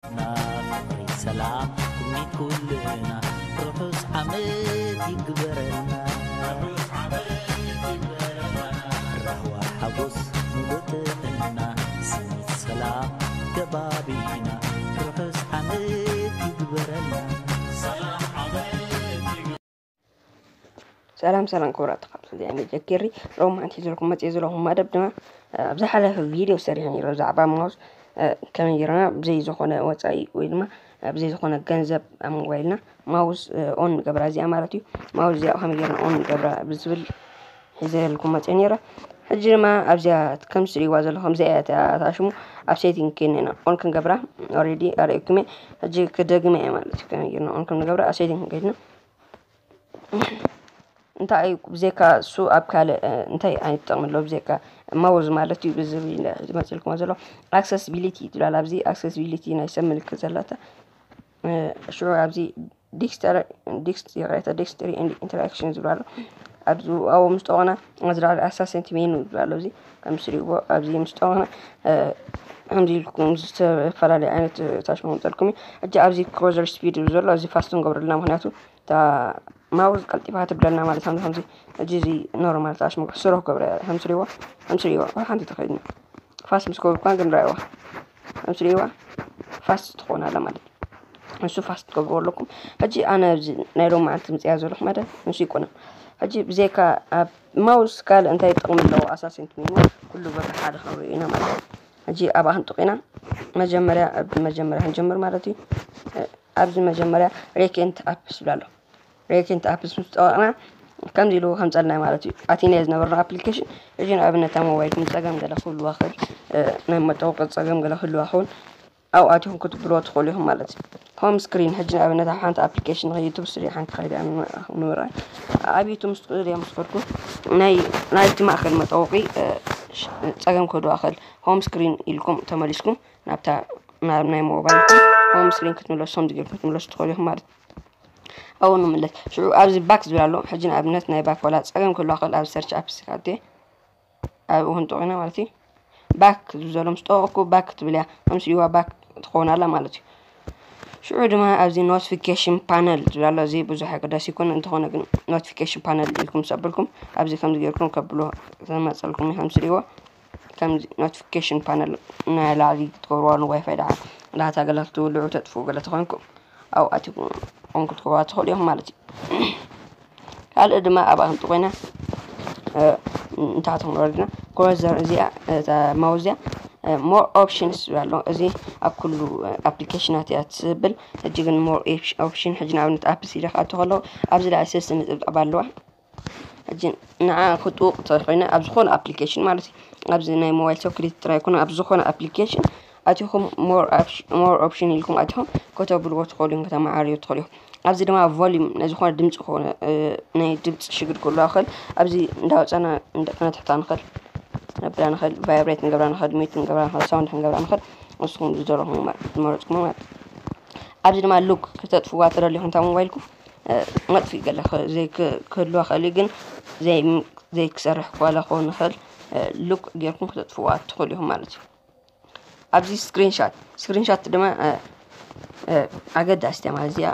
ፍቕሪ ሰላም ትምኒት ኩልና ርሑስ ዓመት ይግበረልና። ራህዋ ሓጎስ ሙሉእ ጥዕና ስኒት ሰላም ከባቢና ርሑስ ዓመት ይግበረልና። ሰላም ሰላም ክቡራት ተኸታተልቲ ሜጀር ኬሪ፣ ሮም ሓንቲ ሒዘልኩም መፅየ ዘለኹም መደብ ድማ ኣብ ዝሓለፈ ቪድዮ ሰሪሐ ነይረ ብዛዕባ ማውስ ከመይ ጌርና ብዘይ ዝኾነ ወፃኢ ወይ ድማ ብዘይ ዝኾነ ገንዘብ ኣብ ሞባይልና ማውስ ኦን ንገብራ እዚኣ ማለት እዩ። ማውስ እዚኣ ከመይ ጌርና ኦን ንገብራ ብዝብል ሒዘልኩም መፅየ ነይረ። ሕጂ ድማ ኣብዚኣ ከም ትሪእዋ ዘለኹም እዚኣ እያ እታ ሽሙ። ኣብ ሴቲንግ ከይድና ኢና ኦን ክንገብራ ኦሬዲ ኣርእየኩም እየ። ሕጂ ክደግመ እየ ማለት እዩ። ከመይ ጌርና ኦን ከም ንገብራ ኣብ ሴቲንግ ከይድና እንታይ እዩ ብዘይካ እሱ ኣብ ካልእ እንታይ ዓይነት ጥቕሚ ኣለዎ ብዘይካ ማውዝ ማለት እዩ ብዝብል ዝመፅልኩም ዘሎ ኣክሰስቢሊቲ ትብላል ኣብዚ ኣክሰስቢሊቲ ናይ ሰብ ምልክት ዘለታ ሽዑ ኣብዚ ዲክስተር ዲክስት ይቕሬታ ዲክስተሪ ኢንተራክሽን ዝብላሉ ኣብዚ ኣብኡ ምስ ጠቕና ዝላለ ኣሳሰንቲ ሜኑ ዝብላሉ እዚ ከም ስሪዎ ኣብዚ ምስ ጠቕና ከምዚ ኢልኩም ዝተፈላለዩ ዓይነት ታሽ መምጠልኩም እዩ ሕጂ ኣብዚ ክሮዘር ስፒድ ዘሎ እዚ ፋስት ንገብረልና ምክንያቱ እታ ማውዝ ቀልጢፋ ትብለና ማለት ከምዚ ከምዚ ሕጂ እዚ ኖርማል ታሽ መግቢ ስሮ ክገብረ ከምስሪዎ ከምስሪዎ ሓንቲ ተኸይድና ፋስ ምስ ገበርኳ ግን ራይዋ ከምስሪዋ ፋስ ትኾን ኣላ ማለት እዩ ንሱ ፋስ ትገብርዎ ኣለኩም ሕጂ ኣነ ኣብዚ ናይ ሎም መዓልቲ ምፅያ ዘለኹ መደብ ንሱ ይኮነ ሕጂ ብዘይካ ኣብ ማውስ ካልእ እንታይ ጥቕሚ ኣለዎ ኣሳሲንት ሜኑ ኩሉ በቃ ሓደ ክንሪኦ ኢና ማለት እዩ ሕጂ ኣብኣ ክንጥቕ ኢና መጀመርያ መጀመርያ ክንጀምር ማለት እዩ ኣብዚ መጀመርያ ሬኬንት ኣፕስ ይብላ ኣሎ ሬኬንት ኣፕስ ምስ ጠወቕና ከምዚ ኢሉ ከምፀልና ማለት እዩ ኣቲና ዝነበርና ኣፕሊኬሽን እዚ ንኣብነት ኣብ ሞባይልኩም ፀገም ገለ ክህልዋ ክእል ናይ መጠወቂ ፀገም ገለ ክህልዋ ክውን ኣብኡ ኣቲኹም ክትብልዎ ትኽእሉ ኢኹም ማለት እዩ ሆም ስክሪን ሕጂ ንኣብነት ኣብ ሓንቲ ኣፕሊኬሽን ዩቱብ ስሪ ሓንቲ ከይዳ ንምራይ ኣብ ዩቱብ ምስ ትኽእሉ እዮም ዝኸድኩም ናይ ናይቲ ማእከል መጠወቂ ፀገም ክህልዋ ክእል ሆም ስክሪን ኢልኩም ተመሊስኩም ናብታ ናብ ናይ ሞባይልኩም ሆም ስክሪን ክትምለሱ ከም ዝገርኩም ክትምለሱ ትኽእሉ ኢኹም ማለት ኣብኡ ንምለስ ሽዑ ኣብዚ ባክ ዝብል ኣሎ ሕጂ ንኣብነት ናይ ባክ ዋላ ፀገም ክህልዋ ክእል ኣብ ሰርች ኣፕስ ካቴ ኣብኡ ክንጠቕ ኢና ማለት እዩ ባክ ዝብል ዘሎ ምስ ጠወቅኩ ባክ ትብል እያ ከምስልዋ ባክ ትኸውን ኣላ ማለት እዩ ሽዑ ድማ ኣብዚ ኖቲፊኬሽን ፓነል ዝብል ኣሎ እዚ ብዙሕ ኣገዳሲ ይኮነ እንተኾነ ግን ኖቲፊኬሽን ፓነል ኢልኩም ሰብልኩም ኣብዚ ከምዚ ገርኩም ከብሎ ዘመፀልኩም ከምስልዎ ከምዚ ኖቲፊኬሽን ፓነል ናይ ላዕሊ ክትገብርዋ ንዋይፋይ ደኣ ዳታ ገለ ክትውልዑ ተጥፍኡ ገለ ተኾይንኩም ኣብኡ ኣቲኩም ኦን ክትገብርዋ ትኽእሉ ኢኹም ማለት እዩ ካልእ ድማ ኣብኣ ክንጥቆይና እንታቶም ወረድና ክሮዘር እዚኣ እታ ማውዝ እዚኣ more options ኣሎ እዚ ኣብ ኩሉ ኣፕሊኬሽናት እያ ትብል ሕጂ ግን more option ሕጂ ንኣብነት ኣፕስ ኢለ ክኣቱ ከለዉ ኣብዚ ላዕሊ ሰለስተ ነጥብጣብ ኣለዋ ሕጂ ንዓ ክጥውቕ ተኮይነ ኣብ ዝኾነ ኣፕሊኬሽን ማለት እዩ ኣብዚ ናይ ሞባይል ሶክሪት ጥራይ ይኮነ ኣብ ዝኾነ ኣፕሊኬሽን ኣቲኹም more option ኢልኩም ኣቲኹም ከተብልዎ ትኽእሉ እዮም ከተመዓርዮ ትኽእሉ እዮም ኣብዚ ድማ ቮሊም ናይ ዝኾነ ድምፂ ክኾነ ናይ ድምፂ ሽግር ክህልዋ ክእል ኣብዚ እንዳወፀና ክነትሕታ ንኽእል ነብላ ንኽእል ቫይብሬት ንገብራ ንኽእል ሚት ንገብራ ንኽእል ሳውንድ ክንገብራ ንኽእል ንስኹም ዝደለኹም ዝመረፅኩም ማለት ኣብዚ ድማ ሉክ ክተጥፍዋ ትደልኹም እታ ሞባይልኩም መጥፍእ ገለ ክህልዋ ክእል እዩ ግን ዘይክሰርሕ ክዋላ ክኸውን ንኽእል ሉክ ጌርኩም ክተጥፍዋ ትኽእሉ ኢኹም ማለት እዩ ኣብዚ ስክሪንሻት ስክሪንሻት ድማ ኣገዳሲት እያ ማለት እዚኣ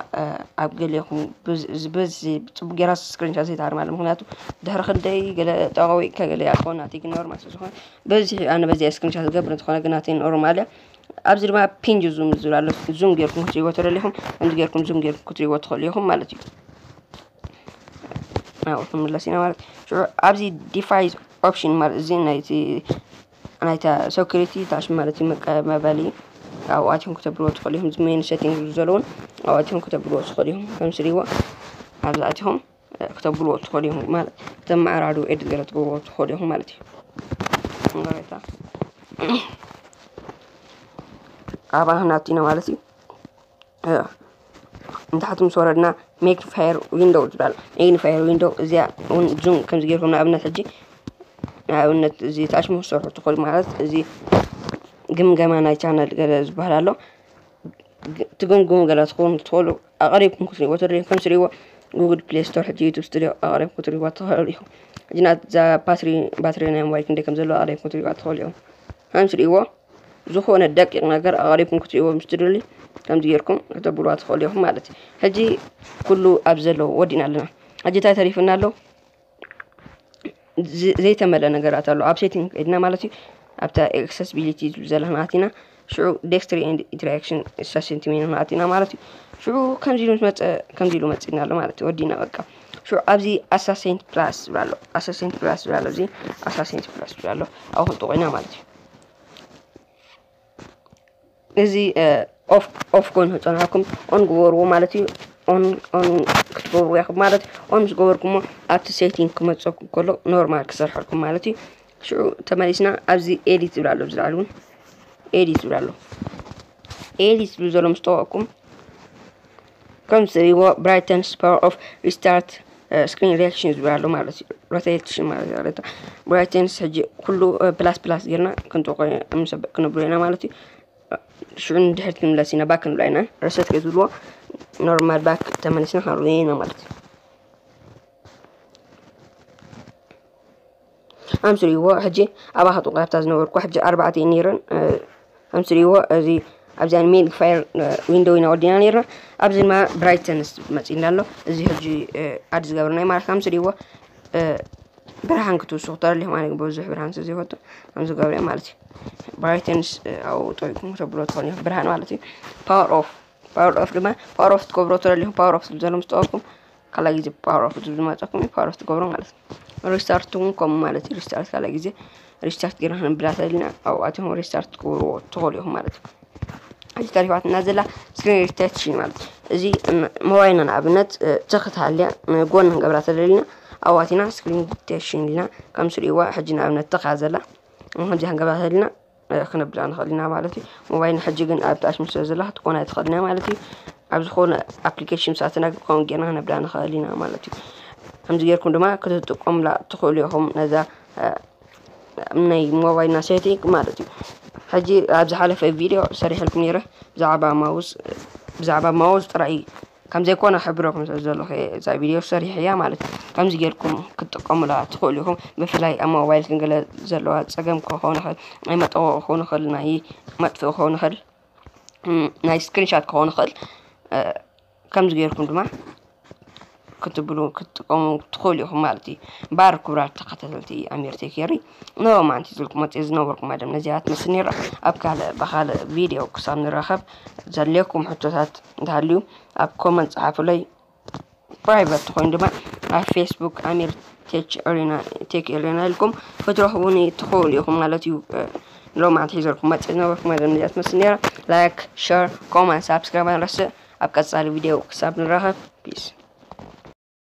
ኣብ ገሊኹም በዚ ብፅቡቅ ጌራ ስክሪንሻት ዘይትሃርም ኣለ ምክንያቱ ድሕሪ ክንደይ ገለ ጠቀዊቅካ ገለ ኣኮን ናተይ ግን ኖርማል ስለዝኮነ በዚ ኣነ በዚኣ ስክሪንሻት ዝገብር እንትኾነ ግን ናተይ ኖርማል እያ ኣብዚ ድማ ፒንጅ ዙም ዝብል ኣሎ ዙም ጌርኩም ክትሪእዎ ተደሊኹም ከምዚ ጌርኩም ዙም ጌርኩም ክትሪእዎ ትኽእሉ ኢኹም ማለት እዩ ናብኡ ክንምለስ ኢና ማለት ሽዑ ኣብዚ ዲፋይስ ኦፕሽን ማለት እዚ ናይቲ ናይታ ሶክሪቲ ታሽ ማለት እዩ መቀመበሊ ኣብኡ ኣትዮም ክተብልዎ ትኽእሉ ኢኹም እዚ ሜን ሴቲንግ ዘለውን ኣብኡ ኣትዮም ክተብልዎ ትኽእሉ ኢኹም ከም ስሪዎ ኣብዚ ኣትኹም ክተብልዎ ትኽእሉ ኢኹም ማለት ተመዓራዱ ኤድት ገለ ትገብርዎ ትኽእሉ ኢኹም ማለት እዩ ንገሬታ ኣብኣ ናብቲና ማለት እዩ ንታሕቲ ምስ ወረድና ሜግኒፋየር ዊንዶው ትበሃል ሜግኒፋየር ዊንዶው እዚኣ እውን ዙም ከምዚ ገይርኩም ንኣብነት ሕጂ ንኣብነት እዚ ታሽሙ ክሰርሑ ትኽእሉ ማለት እዚ ግምገማ ናይ ቻነል ገለ ዝበሃል ኣሎ ትግምግሙ ገለ ትኸውን ትኽእሉ ኣቐሪብኩም ክትሪእዎ ተደልዩ ከም ስሪዎ ጉግል ፕሌይ ስቶር ሕጂ ዩቱብ ስቱዲዮ ኣቐሪብኩም ክትሪእዎ ትኽእሉ ኢኹም ሕጂ ናዛ ባትሪ ባትሪ ናይ ሞባይል ክንደይ ከም ዘለዎ ኣቐሪብኩም ክትሪእዋ ትኽእሉ ኢኹም ከም ስሪእዎ ዝኾነ ደቂቕ ነገር ኣቐሪብኩም ክትሪእዎ ምስ ትደልዩ ከምዚ ጌርኩም ከተብሉዋ ትኽእሉ ኢኹም ማለት እዩ። ሕጂ ኩሉ ኣብ ዘለዎ ወዲእና ኣለና። ሕጂ እንታይ ተሪፍና ኣሎ? ዝ- ዘይተመልአ ነገራት ኣሎ። ኣብ ሴቲንግ ከይድና ማለት እዩ። ኣብታ ኣክሰስቢሊቲ ዝብል ዘለና ኣቲና ሽዑ ዴክስትሪ ኤንድ ኢንተራክሽን ሰስንቲሜን ኣቲና ማለት እዩ። ሽዑ ከምዚ ኢሉ መፀ ከምዚ ኢሉ መፂና ኣሎ ማለት እዩ። ወዲና በቃ ሽዑ ኣብዚ ኣሳሴንት ፕላስ ዝብል ኣሎ። ኣሳሴንት ፕላስ ዝብል ኣሎ። እዚ ኣሳሴንት ፕላስ ዝብል ኣሎ። ኣብኡ ክንጥቑ ኢና ማለት እዩ። እዚ ኦፍ ኦፍ ኮይኑ ክፀንሐኩም ኦን ግበርዎ ማለት እዩ። ኦን ኦን ክትገብርዎ ኢኹም ማለት እዩ። ኦን ምስ ገበርኩሞ ኣብቲ ሴቲንግ ክመፀኩም ከሎ ኖርማል ክሰርሐልኩም ማለት እዩ። ሽዑ ተመሊስና ኣብዚ ኤዲት ዝብል ኣሎ። ኣብዚ ላዕሊ እውን ኤዲት ዝብል ኣሎ። ኤዲት ዝብል ዘሎ ምስ ጠወቅኩም ከም ትሪእዎ ብራይተንስ ፓወር ኦፍ ሪስታርት ስክሪን ሪያክሽን ዝብል ኣሎ ማለት እዩ። ሮቴሽን ማለት እዩ። ብራይተንስ ሕጂ ኩሉ ፕላስ ፕላስ ጌርና ክንጥቆ ክንብሎ ኢና ማለት እዩ። ሽዑ ንድሕሪት ክንምለስ ኢና፣ ባክ ክንብላ ኢና። ረሰት ከይትብልዎ ኖርማል ባክ ተመሊስና ክንርኢ ኢና ማለት እዩ። ኣምስልዎ ሕጂ ኣብኣ ከጥቆ ኣብታ ዝነበርኩ ሕጂ ኣርባዕተ እየን ነይረን። ኣምስልዎ እዚ ኣብዚኣን ሜግኒፋየር ዊንዶው ኢና ወዲና ነይርና። ኣብዚ ድማ ብራይተንስ መፂና ኣሎ። እዚ ሕጂ ኣድ ዝገብርናይ ማለት ኣምስልዎ ብርሃን ክትውስኹ ተደሊኹም ኣነ ግን ብዙሕ ብርሃን ስለ ዘይፈቱ ከምዚ ገብረ ማለት እዩ። ብራይተንስ ኣብኡ ጠቂኩም ክተብሎ ትኾኑ ኢኹም ብርሃን ማለት እዩ። ፓወር ኦፍ ፓወር ኦፍ ድማ ፓወር ኦፍ ትገብሮ ተደሊኹም ፓወር ኦፍ ዝብል ዘሎ ምስ ጠወቅኩም ካልኣይ ግዜ ፓወር ኦፍ ዝብል ዝመፀኩም እዩ ፓወር ኦፍ ትገብሮ ማለት እዩ። ሪስታርት እውን ከምኡ ማለት እዩ። ሪስታርት ካልኣይ ግዜ ሪስታርት ጌርና ክንብላ ተደሊና ኣብኡ ኣትኹም ሪስታርት ትገብርዎ ትኽእሉ ኢኹም ማለት እዩ። እዚ ተሪፋትና ዘላ ስክሪን ሪቴክሽን ማለት እዩ። እዚ ሞባይልና ንኣብነት ትኽ ትሃልያ ንጎን ክንገብራ ተደሊና ኣብኡ ኣቲና ስክሪን ሪቴክሽን ኢልና ከም ስሪእዋ ሕጂ ንኣብነት ትኻ ዘላ ከምዚ ክንገብራ ተደሊና ክነብላ ንኽእል ኢና ማለት እዩ። ሞባይል ሕጂ ግን ኣብ ታሽ ምስ ዘላ ክትኮን ኣይትኽእል ኢና ማለት እዩ። ኣብ ዝኾነ ኣፕሊኬሽን ምስ ኣተና ግን ከምኡ ጌርና ክነብላ ንኽእል ኢና ማለት እዩ። ከምዚ ጌርኩም ድማ ክትጥቀሙላ ትኽእሉ ኢኹም ነዛ ናይ ሞባይልና ሴቲንግ ማለት እዩ። ሕጂ ኣብ ዝሓለፈ ቪድዮ ሰሪሐልኩም ነይረ ብዛዕባ ማውስ ብዛዕባ ማውስ ጥራይ ከም ዘይኮነ ሕብረኩም ስለ ዘለኹ እዛ ቪድዮ ሰሪሐያ ማለት እዩ። ከምዚ ጌርኩም ክትጥቀሙላ ትኽእሉ ኢኹም። ብፍላይ ኣብ ሞባይል ክንገለ ዘለዋ ፀገም ክኸውን ይኽእል፣ ናይ መጠወቂ ክኸውን ይኽእል፣ ናይ መጥፍኢ ክኸውን ይኽእል፣ ናይ ስክሪንሻት ክኸውን ይኽእል። ከምዚ ጌርኩም ድማ ክትብሉ ክትጥቀሙ ትኽእሉ ኢኹም ማለት እዩ። ባር ክቡራት ተኸታተልቲ ኣሚር ቴክ ኤሪ ንሎማዓንቲ ዝልኩም መፅእ ዝነበርኩም መደብ ነዚኣ ትመስል ነይራ። ኣብ ካልእ ብኻልእ ቪድዮ ክሳብ ንራኸብ ዘድልየኩም ሕቶታት እንተሃልዩ ኣብ ኮመንት ፀሓፉለይ። ፕራይቨት ትኾይኑ ድማ ኣብ ፌስቡክ ኣሚር ቴክ ኤሪና ቴክ ኤሪና ኢልኩም ክትረኽቡኒ ትኽእሉ ኢኹም ማለት እዩ። ሎማዓንቲ ሒዘልኩም መፅእ ዝነበርኩም መደብ ነዚኣ ትመስል ነይራ። ላይክ፣ ሸር፣ ኮመንት፣ ሳብስክራይብ ኣይንረስዕ። ኣብ ቀፃሊ ቪድዮ ክሳብ ንራኸብ ፒስ።